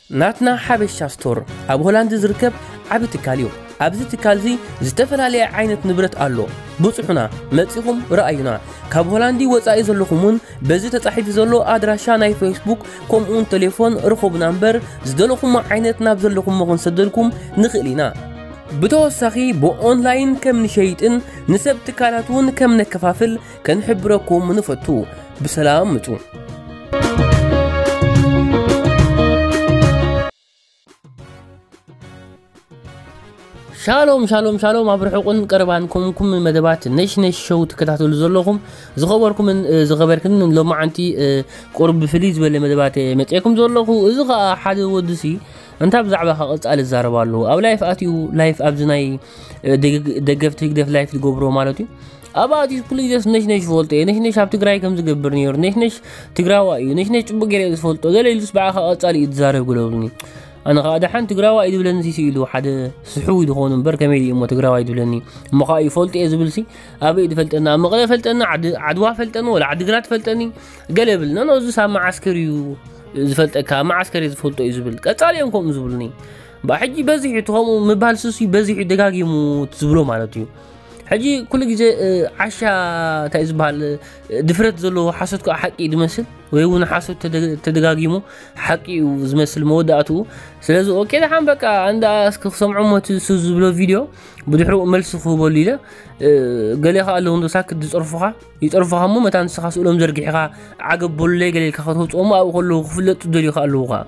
ናትና ሓበሻ ስቶር ኣብ ሆላንድ ዝርከብ ዓቢ ትካል እዩ። ኣብዚ ትካል እዚ ዝተፈላለየ ዓይነት ንብረት ኣሎ። ብጽሑና፣ መጺኹም ረኣዩና። ካብ ሆላንዲ ወጻኢ ዘለኹም እውን በዚ ተጻሒፉ ዘሎ ኣድራሻ ናይ ፌስቡክ ከምኡውን ቴሌፎን ርኸቡና እምበር፣ ዝደለኹሞ ዓይነት ናብ ዘለኹሞ ክንሰደልኩም ንኽእል ኢና። ብተወሳኺ ብኦንላይን ከም ንሸይጥን ንሰብ ትካላት እውን ከም ነከፋፍል ከንሕብረኩም ንፈቱ። ብሰላም ምጹ። ሻሎም ሻሎም ሻሎም፣ ኣብ ርሑቕን ቀረባን ኮንኩም መደባት ነሽነሽ ሾው ትከታተሉ ዘለኹም ዝኸበርኩምን ዝኸበርክን፣ ሎማዓንቲ ቁርብ ፍልይ ዝበለ መደባት መፅኤኩም ዘለኹ። እዚ ኸዓ ሓደ ወድሲ እንታ ብዛዕባ ኸቐፃል እዛረብ ኣለዎ ኣብ ላይፍ ኣትዩ፣ ላይፍ ኣብዚ ናይ ደገፍቲ ህግደፍ ላይፍ ዝገብሮ ማለት እዩ። ኣብ ኣትዩ ኩሉ ግዜስ ነሽነሽ ዝፈልጦ እየ፣ ነሽነሽ ኣብ ትግራይ ከም ዝገብር ነይሩ፣ ነሽነሽ ትግራዋ እዩ፣ ነሽነሽ ፅቡቅ ገይረ ዝፈልጦ ገለ ኢሉስ ብዓኻ ቀፃሊ እዩ ዝዛረብ ግለብሉኒ። ኣነ ከዓ ደሓን ትግራዋ እዩ ዝብለኒ ሲ ኢሉ ሓደ ስሕዊ ዝኾኑ እምበር ከመይ ድዩ እሞ ትግራዋ እዩ ዝብለኒ? እሞ ከዓ ይፈልጦ እየ ዝብል ሲ ኣበይ ዝፈልጠና? ኣብ መቐለ ፈልጠና፣ ዓዲ ዓድዋ ፈልጠኒ፣ ወላ ዓዲግራት ፈልጠኒ ገለ ብል። ነኖ እዚስ ኣብ መዓስከር እዩ ዝፈልጠካ፣ ኣብ መዓስከር እየ ዝፈልጦ እዩ ዝብል። ቀፃሊ እዮም ከምኡ ዝብሉኒ። ብኣ ሕጂ በዚሑ እቲ ከምኡ ምባል ሱሲ በዚሑ ደጋጊሙ ዝብሎ ማለት እዩ። ሕጂ ኩሉ ግዜ ዓሻ እንታይ ዝበሃል ድፍረት ዘለዎ ሓሶት ከዓ ሓቂ እዩ ዝመስል፣ ወይ እውን ሓሶት ተደጋጊሙ ሓቂ እዩ ዝመስል መወዳእትኡ። ስለዚ ኦኬ ደሓን በቃ ኣንዳ እስኪ ክሰምዖ ሞት እሱ ዝብሎ ቪድዮ ብድሕሪኡ መልሲ ክህበሉ ኢለ። ገሌ ከዓ ኣለዉ እንዶ ሳክት ዝፀርፉኻ ይፀርፉኻ እሞ መታ ንስኻ ስእሎም ዘርጊሕኻ ዓገብ በሉለይ ገሌ ኢልካ ከተውፅኦሞ ኣብኡ ከለዉ ክፍለጡ ዝደልዩ ከዓ ኣለዉ ከዓ።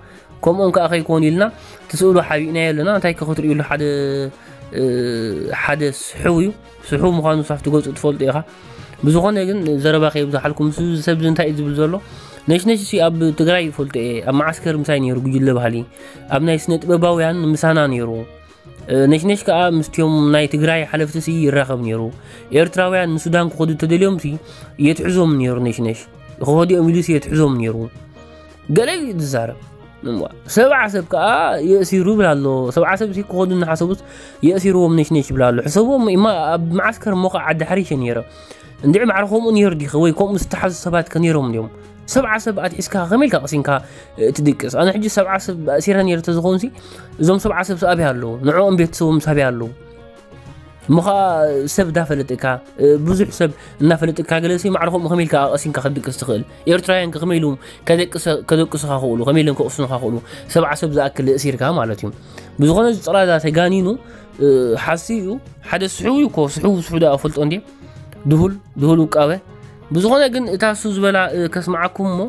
ከምኦም ከዓ ከይኮኑ ኢልና እቲ ስእሉ ሓቢእናዮ ኣለና። እንታይ ከ ክትርእዩሉ ሓደ ሓደ ስሕው እዩ። ስሕው ምዃኑ ሳፍቲ ገፁ ትፈልጡ ኢኻ። ብዝኾነ ግን ዘረባ ከይብዛሓልኩም፣ ምስ እዚ ሰብ እዚ እንታይ እዩ ዝብል ዘሎ? ነሽነሽ ሲ ኣብ ትግራይ ይፈልጦ እየ፣ ኣብ መዓስከር ምሳይ ነይሩ ጉጅለ ባህሊ፣ ኣብ ናይ ስነ ጥበባውያን ምሳና ነይሩ። ነሽነሽ ከዓ ምስቲዮም ናይ ትግራይ ሓለፍቲ ሲ ይራኸብ ነይሩ። ኤርትራውያን ንሱዳን ክኸዱ ተደልዮም ሲ የትሕዞም ነይሩ። ነሽነሽ ክኸዱ እዮም ኢሉ ሲ የትሕዞም ነይሩ። ገለ እዩ ዝዛረብ። እምዋ፣ ሰብዓ ሰብ ከዓ የእሲሩ ይብል ኣሎ። ሰብዓ ሰብ ሲ ክኸዱ እናሓሰቡስ የእሲርዎም ነሽነሽ ይብል ኣሎ። ሕሰብዎም እማ ኣብ መዓስከር እሞ ከዓ ዓዲ ሓሪሸ ነይረ። እንድዒ ማዕረ ከምኡ ነይሩ ዲኸ? ወይ ከምኡ ዝተሓዙ ሰባት ከ ነይሮም ድዮም? ሰብዓ ሰብ ኣትሒዝካ ከመይ ኢልካ ቀሲንካ ትድቅስ? ኣነ ሕጂ ሰብዓ ሰብ ኣእሲረ ነይረ ተዝኸውን ሲ እዞም ሰብዓ ሰብ ሲ ኣበይ ኣለዉ? ንዕኦም ቤተሰቦም ሲ ኣበይ ኣለዉ? እሞ ኸዓ ሰብ እንዳፈለጥካ ብዙሕ ሰብ እናፈለጥካ ገለ ሲ ማዕረ ከምኡ ከመይ ኢልካ ቀሲንካ ክትድቅስ ትኽእል? ኤርትራውያን ከ ከመይ ኢሎም ከደቅሱኻ ክኽእሉ፣ ከመይ ኢሎም ከቕስኑኻ ክኽእሉ? ሰብዓ ሰብ ዝኣክል እሲርካ ማለት እዩ። ብዝኾነ እዚ ጸላዳ ተጋኒኑ ሓሲ እዩ። ሓደ ስሕው እዩ እኮ፣ ስሕው ስሕው ደኣ ፈልጦ እንዴ? ድሁል ድሁል ውቃበ። ብዝኾነ ግን እታ እሱ ዝበላ ከስምዓኩም እሞ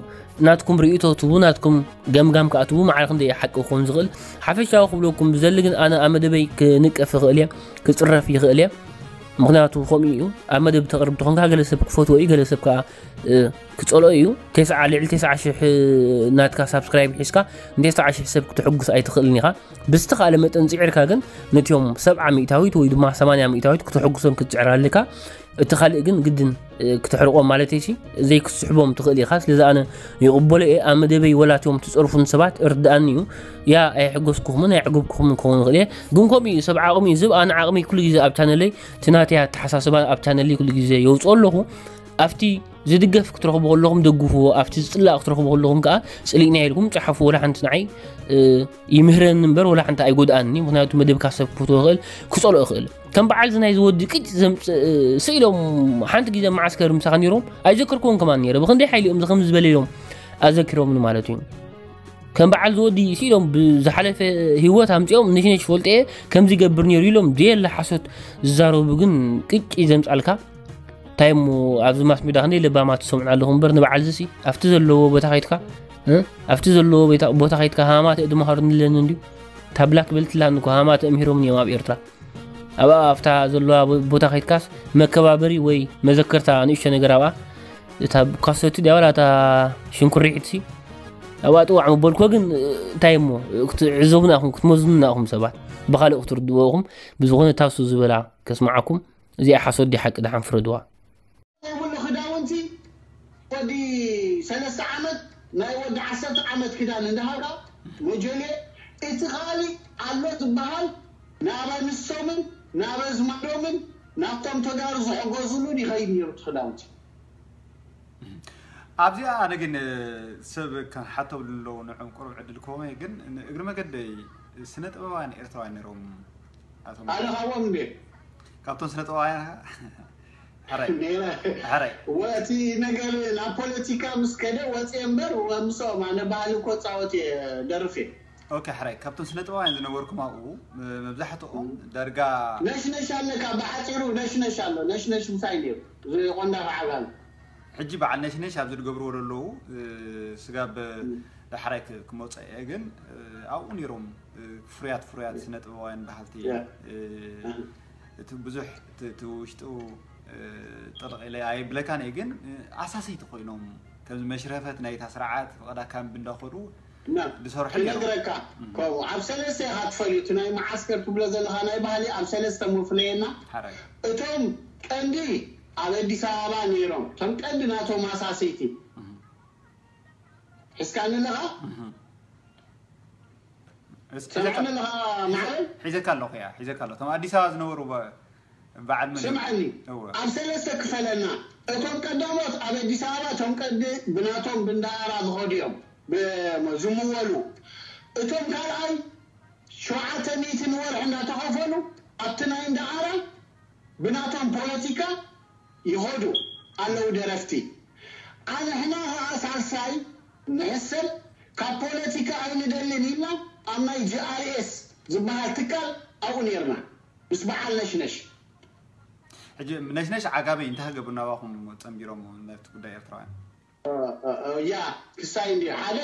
ናትኩም ርእይቶ ትቡ፣ ናትኩም ገምጋም ከኣ ትቡ። ማዕረ ክንደይ ሓቂ ክኾን ዝኽእል ሓፈሻዊ ክብለኩም ብዘሊ ግን ኣነ ኣብ መደበይ ክንቀፍ ይኽእል እየ፣ ክጽረፍ ይኽእል እየ። ምኽንያቱ ከምኡ እዩ። ኣብ መደብ ተቕርብ ተኾንካ ገለ ሰብ ክፈትዎ እዩ፣ ገለ ሰብ ከኣ ክጸልኦ እዩ። ተስዓ ልዕሊ ተስዓ ሽሕ ናትካ ሳብስክራይብ ሒዝካ ንተስዓ ሽሕ ሰብ ክትሕጉስ ኣይትኽእልን ኢኻ። ብዝተኻእለ መጠን ጽዒርካ ግን ነቲኦም ሰብዓ ሚእታዊት ወይ ድማ ሰማንያ ሚእታዊት ክትሕጉሶም ክትጽዕር ኣለካ። እቲ ካልእ ግን ግድን ክትሕርቆም ማለት ሲ ዘይክትስሕቦም ትኽእል ኢኻ። ስለዚ ኣነ ይቕበሎ እየ። ኣብ መደበይ ወላ እቲኦም ትጸርፉን ሰባት እርድኣኒ እዩ። ያ ኣይሕጎስኩኹምን ኣይዕገብኩኹምን ክኸውን ይኽእል እየ። ግን ከምኡ እዩ ሰብ ዓቕሚ እዩ። ዝብ ኣነ ዓቕሚ ኩሉ ግዜ ኣብ ቻነለይ እቲ ናተይ ኣተሓሳስባ ኣብ ቻነለይ ኩሉ ግዜ የውፅኦ ኣለኹ። ኣብቲ ዝድገፍ ክትረኽቡ ከለኹም ደግፍዎ፣ ኣብቲ ዝፅላእ ክትረኽቡ ከለኹም ከዓ ፅሊእና ኢልኩም ፀሓፉ። ወላ ሓንቲ ንዓይ ይምህረኒ እምበር ወላ ሓንቲ ኣይጎድኣኒ። ምክንያቱ መደብካ ሰብ ክፈትዎ ይኽእል፣ ክፀልኦ ይኽእል። ከም በዓል እዚ ናይ ዝወዲ ቅጭ ዘምፅእ ስኢሎም ሓንቲ ግዜ መዓስከር ምሳኻ ነይሮም ኣይዘከርክዎም ከማን ነይረ። ብክንደይ ሓይሊ እዮም ዝኸም ዝበለ ኢሎም ኣዘኪሮምኒ ማለት እዩ። ከም በዓል ዝወዲ ስኢሎም ብዝሓለፈ ህይወት ኣምፅኦም ነሽነሽ ፈልጠ እየ ከምዚ ይገብር ነይሩ ኢሎም ዘየለ ሓሶት ዝዛረቡ ግን ቅጭ ዘምፃልካ። እንታይ እሞ ኣብዚ ማስ ሚድያ ክንደይ ለባማት ትሰምዑ ኣለኹም እምበር ንበዓል ዝሲ ኣብቲ ዘለዎ ቦታ ከይድካ እ? ኣብቲ ዘለዎ ቦታ ከይድካ ሃማተ ድመሃሩ ንለን እንድዩ። እታ ብላክ ቤልት ላን እኮ ሃማተ እምሂሮም እዮም ኣብ ኤርትራ። ኣብኣ ኣብታ ዘለዋ ቦታ ከይድካስ መከባበሪ ወይ መዘከርታ ንእሽቶ ነገር ኣብኣ እታ ካሰቲ ድያ ዋላ እታ ሽንኩሪሒትሲ ኣብኣ ጥዋዕ ምበልኮ ግን እንታይ እሞ ክትዕዘቡና ኢኹም ክትመዝኑና ኢኹም ሰባት ብኻልእ ክትርድዎ ኢኹም። ብዝኾነ እታ እሱ ዝበላ ከስምዓኩም። እዚኣ ሓሶት ድያ ሓቂ ደሓን ፍረድዋ። ዘይብሉ ክዳውንቲ ወዲ ሰለስተ ዓመት ናይ ወዲ ዓሰርተ ዓመት ክዳን እንዳሃብካ መጀልየ እቲ ኻሊ ኣሎ ዝበሃል ናብ ኣንስቶምን ናብ ኣዝማዶምን ናብቶም ተጋሩ ዝሕገዝሉን ይኸይድ ነይሩ እቲ ክዳውንቲ። ኣብዚኣ ኣነ ግን ሰብ ከሓቶም ኣለዉ ንዕም ቁሩብ ዕድል ክቦም እየ። ግን እግሪ መገደይ ስነ ጥበባውያን ኤርትራውያን ነይሮም ኣቶም ኣነ ካብኦም እንዴ ካብቶም ስነ ጥበባውያን ሓራይ ሓራይ ወቲ ነገር ናብ ፖለቲካ ምስ ከደ ወፂ እምበር ምስኦም ኣነ ባህሊ እኮ ፃወት እየ ደርፍ እየ። ኦኬ ሓራይ ካብቶም ስነ ጥበባውያን ዝነበርኩም ኣብኡ መብዛሕትኦም ዳርጋ ነሽነሽ ኣለካ ብሓፂሩ ነሽነሽ ኣሎ ነሽነሽ እንታይ እዩ ዝቆንዳ ዓጋል ሕጂ በዓል ነሽነሽ ኣብዚ ዝገብርዎ ዘለዉ ስጋብ ዳሕራይ ክመፀ እየ ግን ኣብኡ ነይሮም ፍሩያት ፍሩያት ስነ ጥበባውያን በሃልቲ እቲ ብዙሕ እቲ ውሽጡ ጥልቕ ኢለ ኣይብለካን እየ ግን ኣሳሰይቲ ኮይኖም ከምዚ መሽረፈት ናይታ ስርዓት ፍቐዳ ካምቢ እንዳኸዱ ዝሰርሑ ነይሮም። ክነግረካ ከምኡ ኣብ ሰለስተ ኢኻ ትፈልዩ እቲ ናይ መዓስከር ትብሎ ዘለኻ ናይ ባህሊ ኣብ ሰለስተ መፍለየና ሓራይ እቶም ቀንዲ ኣብ ኣዲስ ኣበባ ነይሮም እቶም ቀንዲ ናቶም ኣሳሰይቲ ሒዝካኒ ኣለኻ እስኪ ሰምዓኒ ኣለኻ ማዕረ ሒዘካ ኣለኹ እያ ሒዘካ ኣለኹ እቶም ኣዲስ ኣበባ ዝነበሩ በ- በዓል መን ስምዓኒ እወ ኣብ ሰለስተ ክፈለና እቶም ቀዳሞት ኣብ ኣዲስ ኣበባ እቶም ቀዲ ብናቶም ብንዳኣራ ዝኸዱ እዮም ብ- ዝምወሉ እቶም ካልኣይ ሸውዓተ ሚእቲ ንወርሒ እንዳተኸፈሉ ኣብቲ ናይ እንዳኣራ ብናቶም ፖለቲካ ይኸዱ ኣለዉ ደረፍቲ ኣንሕና ኸዓ ሳልሳይ ንሕሰብ ካብ ፖለቲካ ኣይንደልን ኢልና ኣብ ናይ ጂኣርኤስ ዝበሃል ትካል ኣብኡ ነይርና ምስ በዓል ነሽነሽ ሕጂ ነሽነሽ ዓጋመ እንታይ ሃገቡ ናባኹም ጸንቢሮም ነቲ ጉዳይ ኤርትራውያን ያ ክሳይ እንዲ ሓደ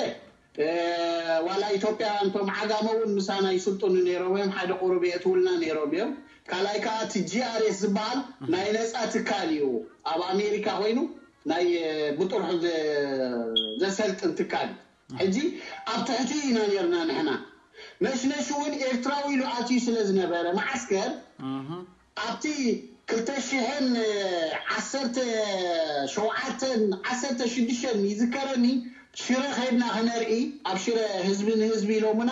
ዋላ ኢትዮጵያ እንቶም ዓጋመ እውን ምሳና ይስልጥኑ ነይሮም እዮም ሓደ ቁሩብ የእትውልና ነይሮም እዮም ካልኣይ ከዓ እቲ ጂኣርኤስ ዝበሃል ናይ ነፃ ትካል እዩ ኣብ ኣሜሪካ ኮይኑ ናይ ብጥርሑ ዘሰልጥን ትካል እዩ ሕጂ ኣብ ትሕቲ ኢና ነርና ንሕና ነሽነሽ እውን ኤርትራዊ ኢሉ ኣትዩ ስለ ዝነበረ ማዓስከር ኣብቲ ክልተ ሽሕን ዓሰርተ ሸውዓተን ዓሰርተ ሽዱሽተን ይዝከረኒ ሽረ ከይድና ክነርኢ ኣብ ሽረ ህዝቢ ንህዝቢ ኢሎሙና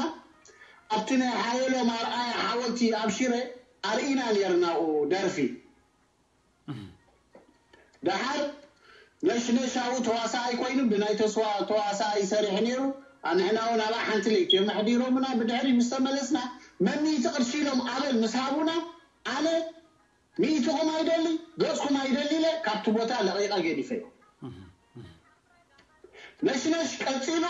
ኣብቲ ናይ ሓየሎም ኣርኣያ ሓወልቲ ኣብ ሽረ ኣርኢና ነርናኡ ደርፊ ደሓር ነሽነሻዊ ተዋሳኣይ ኮይኑ ብናይ ተስዋ ተዋሳኣይ ይሰርሕ ነይሩ ኣንሕና እውን ኣብኣ ሓንቲ ለይቲ እዮም ኣሕዲሮምና ብድሕሪ ምስ ተመለስና መሚእቲ ቅርሺ ኢሎም ኣበል ምስ ሃቡና ኣነ ሚእትኹም ኣይደሊ ገፅኩም ኣይደሊ ኢለ ካብቲ ቦታ ለቒቐ ገዲፈ ነሽነሽ ቀፂሉ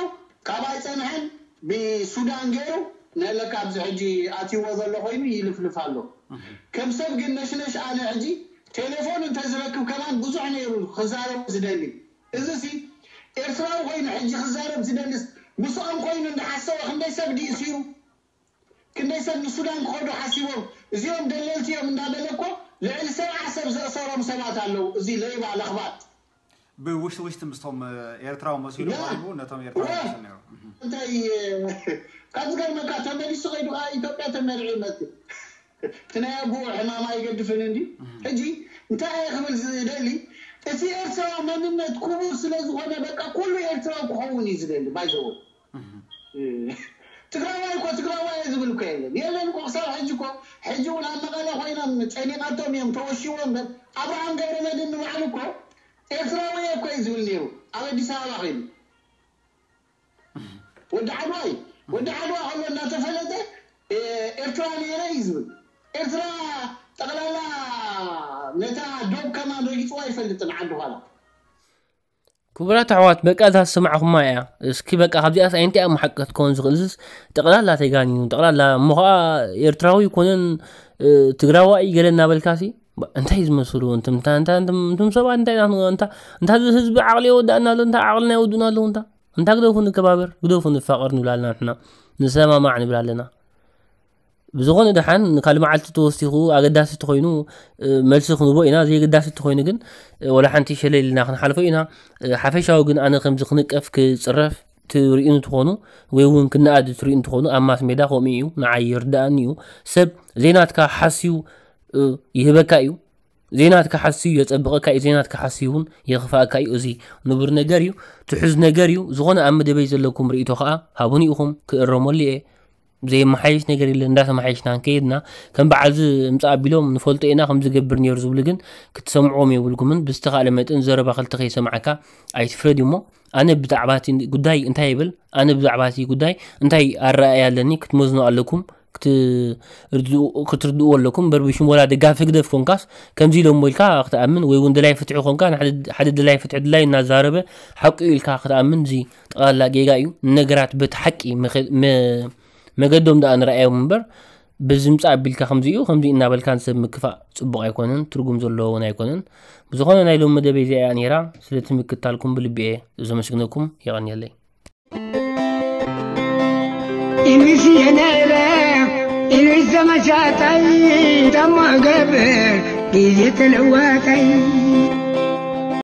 ካብ ኣይፀንሐን ብሱዳን ገይሩ ነለካ ኣብዚ ሕጂ ኣትይዎ ዘሎ ኮይኑ ይልፍልፍ ኣሎ ከም ሰብ ግን ነሽነሽ ኣነ ሕጂ ቴሌፎን እንተዝረክብ ከማን ብዙሕ ነይሩ ክዛረቡ ዝደሊ እዚ ሲ ኤርትራዊ ኮይኑ ሕጂ ክዛረብ ዝደልስ ምስኦም ኮይኑ እንዳሓሰበ ክንደይ ሰብ ድእሲሩ ክንደይ ሰብ ንሱዳን ክኸዱ ሓሲቦም እዚኦም ደለልቲ እዮም እንዳበለ እኮ ልዕሊ ሰብዓ ሰብ ዘእሰሮም ሰባት ኣለዉ እዚ ለይባ ለኽባጥ ብውሽጢ ውሽጢ ምስቶም ኤርትራዊ መሲሉ ያ። ቀሪቡ ነቶም ኤርትራዊ ዋ። መሲሉ ነይሩ እንታይ ካብ ዝገርመካ ተመሊሱ ከይዱ ከዓ ኢትዮጵያ ተመሪዑ ይመፅእ እቲ ናይ ኣቦኡ ሕማም ኣይገድፍን እንዲ ሕጂ እንታይ እየ ክብል ዝደሊ እቲ ኤርትራዊ መንነት ክቡር ስለ ዝኾነ በቃ ኩሉ ኤርትራዊ ክኸውን እዩ ዝደሊ ባይዘዎ ትግራዋይ እኮ ትግራዋይ ዝብል እኮ የለን የለን እኮ ክሳብ ሕጂ እኮ ሕጂ እውን ኣብ መቐለ ኮይኖም ጨኒቃቶም እዮም ተወሽዎም በር ኣብርሃም ገብረመድን ንባዕሉ እኮ ኤርትራዊ እኮ እዩ ዝብል ነይሩ ኣብ ኣዲስ ኣበባ ኮይኑ ወዲ ዓድዋ እዩ ወዲ ዓድዋ ከሎ እናተፈለጠ ኤርትራ ነይረ እዩ ዝብል ኤርትራ ጠቕላላ ነታ ዶብ ከማን ረጊፅዋ ኣይፈልጥን ዓዲ ኋላ ክቡራት ኣሕዋት በቃ እዛ ዝሰማዕኹማ እያ እስኪ በቃ ካብዚኣስ ኣይንቲኣ መሓቀት ክኸውን ዝኽእል ዝስ ጠቕላላ ተጋኒኑ ጠቕላላ እሞ ኸዓ ኤርትራዊ ይኮነን ትግራዋይ ገለ እናበልካሲ እንታይ ዝመስሉ እንትምታ እንታ እንትም ሰባት እንታይ ናት እንታ እንታ ህዝቢ ዓቕሊ የወዳእና ኣሎ እንታ ዓቕልና የወዱና ኣለዉ እንታ እንታ ግደፉ ንከባበር ግደፉ ንፋቐር ንብላልና ንሕና ንሰማማዕ ንብላ ኣለና ብዝኾነ ደሓን ንካልእ መዓልቲ ተወሲኹ ኣገዳሲ ተኾይኑ መልሲ ክንቦ ኢና፣ ዘየገዳሲ ተኾይኑ ግን ወላ ሓንቲ ሸለል ኢልና ክንሓልፎ ኢና። ሓፈሻዊ ግን ኣነ ከምዚ ክንቀፍ ክጽረፍ ትርእዩኒ ትኾኑ ወይ እውን ክነኣድ ትርእዩኒ ትኾኑ ኣብ ማስ ሜዳ ከምኡ እዩ፣ ንዓይ ይርድኣኒ እዩ። ሰብ ዘይናትካ ሓስዩ ይህበካ እዩ፣ ዘይናትካ ሓስዩ የጸብቐካ እዩ፣ ዘይናትካ ሓስዩ እውን የኽፍኣካ እዩ። እዚ ንቡር ነገር እዩ፣ ትሑዝ ነገር እዩ። ዝኾነ ኣብ መደበይ ዘለኩም ርእይቶ ኸኣ ሃቡኒ ኢኹም፣ ክእረመሉ እየ። ዘይመሓየሽ ነገር የለ። እንዳተመሓየሽና ከይድና ከም በዓልዚ ምፃእ ኣቢሎም ንፈልጦ ኢና ከም ዝገብር ነይሩ ዝብሉ ግን ክትሰምዕዎም የብልኩምን። ብዝተኻእለ መጠን ዘረባ ክልተ ከይሰማዕካ ኣይትፍረድ እሞ ኣነ ብዛዕባ እቲ ጉዳይ እንታይ ይብል፣ ኣነ ብዛዕባ እቲ ጉዳይ እንታይ ኣረኣእያ ኣለኒ ክትመዝኑ ኣለኩም ክትርድእዎ ኣለኩም። እምበር ብሽም ወላ ደጋፊ ህግደፍ ኮንካስ ከምዚ ኢሎሞ ኢልካ ክትኣምን ወይ እውን ደላይ ፍትሒ ኮንካ ንሓደ ደላይ ፍትሒ ድላይ እናዛረበ ሓቂ ኢልካ ክትኣምን እዚ ጠቕላላ ጌጋ እዩ። ንነገራት በቲ ሓቂ መገዶም ደኣ ንረኣዮም እምበር ብዝምፃእ ኣቢልካ ከምዚ እዩ ከምዚ እናበልካ ንሰብ ምክፋእ ፅቡቕ ኣይኮነን፣ ትርጉም ዘለዎ እውን ኣይኮነን። ብዝኾነ ናይ ሎም መደበይ እዚኣ እያ ነይራ። ስለቲ ምክታልኩም ብልቢ እየ ዘመስግነኩም። የቐንየለይ። ኢሉስ የነለ ኢሉስ ዘመሻታይ ደሞ ገብር ግዜ ተለዋታይ